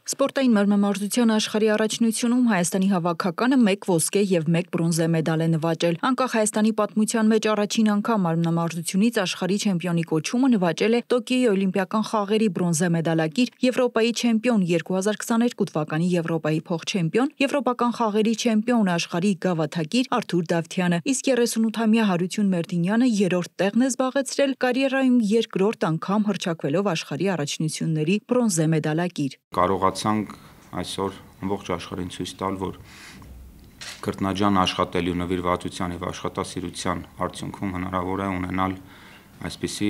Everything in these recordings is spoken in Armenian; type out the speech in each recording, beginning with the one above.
Սպորտային մարմնամարզության աշխարհի առաջնությունում Հայաստանի հավաքականը 1 ոսկե եւ 1 բրոնզե մեդալ է նվաճել։ Անկախ Հայաստանի պատմության մեջ առաջին անգամ մարմնամարզությունից աշխարհի չեմպիոնի կոչումը նվաճել է Տոկիոյի օլիմպիական խաղերի բրոնզե մեդալակիր, Եվրոպայի չեմպիոն 2022 թվականի Եվրոպայի փոխչեմպիոն, Եվրոպական խաղերի չեմպիոն աշխարհի գավաթակիր Արթուր Դավթյանը, իսկ 38-ամյա Հարություն Մերդինյանը երրորդ տեղն է զբաղեցրել կարիերայում երկրորդ անգամ հռչակվելով աշխարհի առաջնությունների բրոնզե մեդալակիր։ Կարողացանք այսօր ամբողջ աշխարհին ցույց տալ, որ քրտնաջան աշխատելու նվիրվածության եւ աշխատասիրության արդյունքում հնարավոր է ունենալ այսպիսի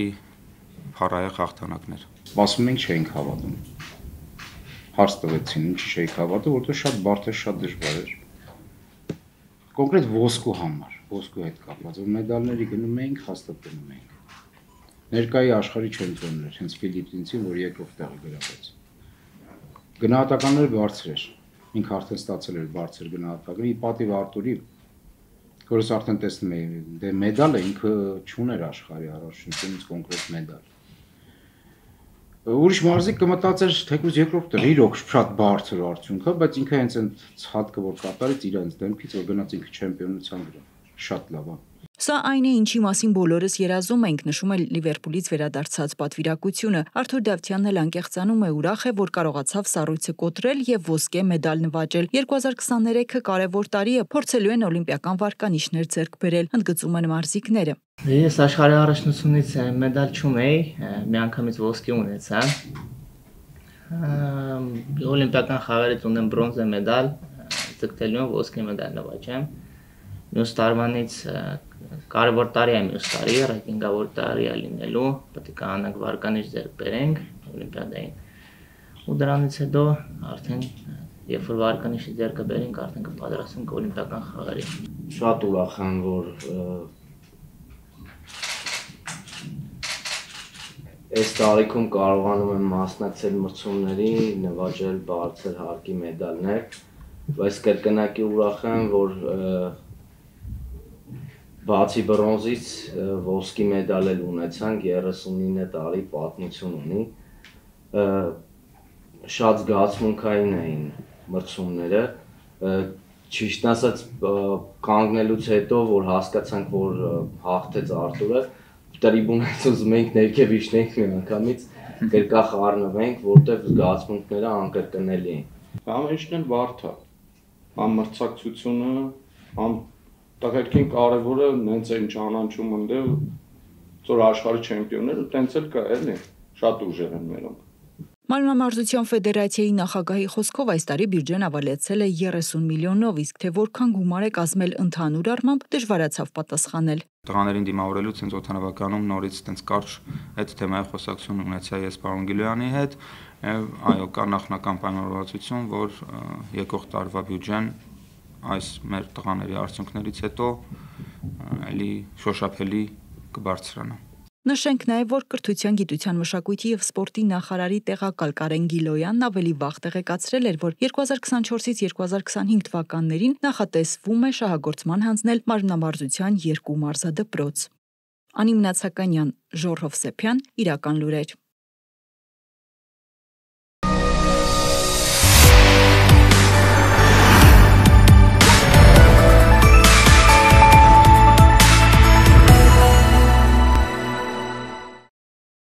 փառահեղ հաղթանակներ։ Սպասում ենք չէինք հավատում։ Հարց տվեցին, ինչի չէինք հավատում, որովհետեւ շատ բարդ էր, շատ դժվար էր։ Կոնկրետ ոսկու համար, ոսկու հետ կապված, որ մեդալների գնում էինք, հաստատում էինք։ Ներկայի աշխարհի չեմպիոններ, հենց Ֆիլիպինցին, որ երկրորդ տեղը գրավեց։ Գնահատականները բարձր էր, ինքը արդեն ստացել էր բարձր գնահատական, ի պատիվ Արտուրի, որս արդեն տեսնում էի, դե մեդալը ինքը չուներ աշխարհի առաջնությունից կոնկրետ մեդալ։ Ուրիշ մարզիկ կմտածեր, թեկուզ երկրորդ տեղ, իրոք շատ բարձր արդյունք է, բայց ինքը հենց այն ցածկը որ կատարեց իրանց դեմքից, որ գնաց ինքը չեմպիոնության վրա, շատ լավ է։ Սա այն է, ինչի մասին բոլորս երազում ենք, նշում է Լիվերպուլից վերադարձած պատվիրակությունը։ Արթուր Դավթյանն էլ անկեղծանում է, ուրախ է, որ կարողացավ սառույցը կոտրել եւ ոսկե մեդալ նվաճել։ 2023-ը կարևոր տարի է, փորձելու են օլիմպիական վարկանիշներ ձեռք բերել, ընդգծում են մարզիկները։ Ես աշխարհի առաջնությունից մեդալ չունեի, միանգամից ոսկի ունեցա։ Օլիմպիական խաղերից ունեմ բրոնզե մեդալ, ձգտելու ոսկե մեդալ նվաճեմ։ Մյուս տարվանից կարևոր տարի է մյուս տարի, ռեյտինգավոր տարի է լինելու, պետք է կանանք վարկանիշ ձեռք բերենք օլիմպիադային։ Ու դրանից հետո արդեն երբ որ վարկանիշը ձեռքը բերենք, արդեն կպատրաստենք օլիմպիական խաղերի։ Շատ ուրախ եմ, որ այս տարիքում կարողանում եմ մասնակցել մրցումների, նվաճել բարձր հարկի մեդալներ, բայց կրկնակի ուրախ եմ, որ բացի բրոնզից ոսկի մեդալ էլ ունեցանք, 39 տարի պատմություն ունի, շատ զգացմունքային էին մրցումները, ճիշտ ասած կանգնելուց հետո, որ հասկացանք, որ հաղթեց Արտուրը, տրիբունայից ուզում էինք ներքև իջնենք միանգամից, կրկախ առնվենք, որտեղ զգացմունքները անկրկնելի են։ Ամենիշն էլ բարդ է, համ մրցակցությունը, համ տղերքին կարևորը նենց են ճանաչում ընդել, որ աշխարհի չեմպիոնները տենց էլ կա էլի, շատ ուժեղ են մերոնք։ Մարմնամարզության ֆեդերացիայի նախագահի խոսքով այս տարի բյուջեն ավելացել է 30 միլիոնով, իսկ թե որքան գումար է կազմել ընդհանուր առմամբ դժվարացավ պատասխանել։ Տղաներին դիմավորելուց հենց օդանավականում նորից տենց կարճ այդ թեմայի խոսակցություն ունեցա ես պարոն Գիլոյանի հետ, այո, կա նախնական պայմանավորվածություն, որ եկող տարվա բյուջեն այս մեր տղաների արդյունքներից հետո էլի շոշափելի կբարձրանա։ Նշենք նաև, որ կրթության, գիտության, մշակույթի եւ սպորտի նախարարի տեղակալ Կարեն Գիլոյանն ավելի վաղ տեղեկացրել էր, որ 2024-ից 2025 թվականներին նախատեսվում է շահագործման հանձնել մարմնամարզության 2 մարզադպրոց։ Անի Մնացականյան, Ժոռ Հովսեփյան, Իրական լուրեր։